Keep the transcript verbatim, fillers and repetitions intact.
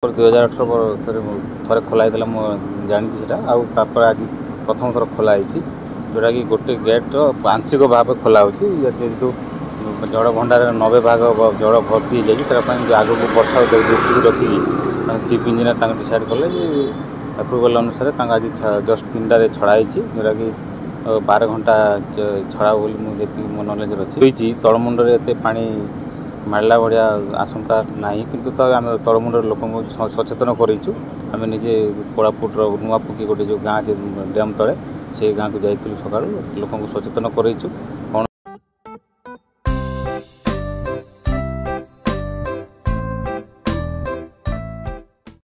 ଦୁଇ ହଜାର ଅଠର ଥରେ ଥରେ ଖୋଲା ହେଇଥିଲା ମୁଁ ଜାଣିଛି ସେଇଟା ଆଉ ତାପରେ ଆଜି ପ୍ରଥମ ଥର ଖୋଲା ହେଇଛି ଯେଉଁଟାକି ଗୋଟେ ଗେଟ୍ର ଆଂଶିକ ଭାବେ ଖୋଲା ହେଉଛି ଯେହେତୁ ଜଳ ଭଣ୍ଡାରରେ ନବେ ଭାଗ ଜଳ ଭର୍ତ୍ତି ହେଇଯାଇଛି ତା ପାଇଁ ଆଗକୁ ବର୍ଷା ଦୃଷ୍ଟିକୁ ରଖିକି ଚିଫ୍ ଇଞ୍ଜିନିୟର ତାଙ୍କ ଡିସାଇଡ଼୍ କଲେ ଯେ ଆପ୍ରୁଭାଲ୍ ଅନୁସାରେ ତାଙ୍କ ଆଜି ଜଷ୍ଟ ତିନିଟାରେ ଛଡ଼ା ହେଇଛି ଯେଉଁଟାକି ବାର ଘଣ୍ଟା ଛଡ଼ା ବୋଲି ମୁଁ ଯେତିକି ମୋ ନଲେଜରେ ଅଛି ହୋଇଛି ତଳମୁଣ୍ଡରେ ଏତେ ପାଣି ମାଡ଼ିଲା ଭଳିଆ ଆଶଙ୍କା ନାହିଁ କିନ୍ତୁ ତ ଆମେ ତଳମୁଣ୍ଡର ଲୋକଙ୍କୁ ସଚେତନ କରେଇଛୁ ଆମେ ନିଜେ କୋରାପୁଟର ନୂଆପକି ଗୋଟେ ଯେଉଁ ଗାଁ ଅଛି ଡ୍ୟାମ୍ ତଳେ ସେଇ ଗାଁକୁ ଯାଇଥିଲୁ ସକାଳୁ ଲୋକଙ୍କୁ ସଚେତନ କରେଇଛୁ କ'ଣ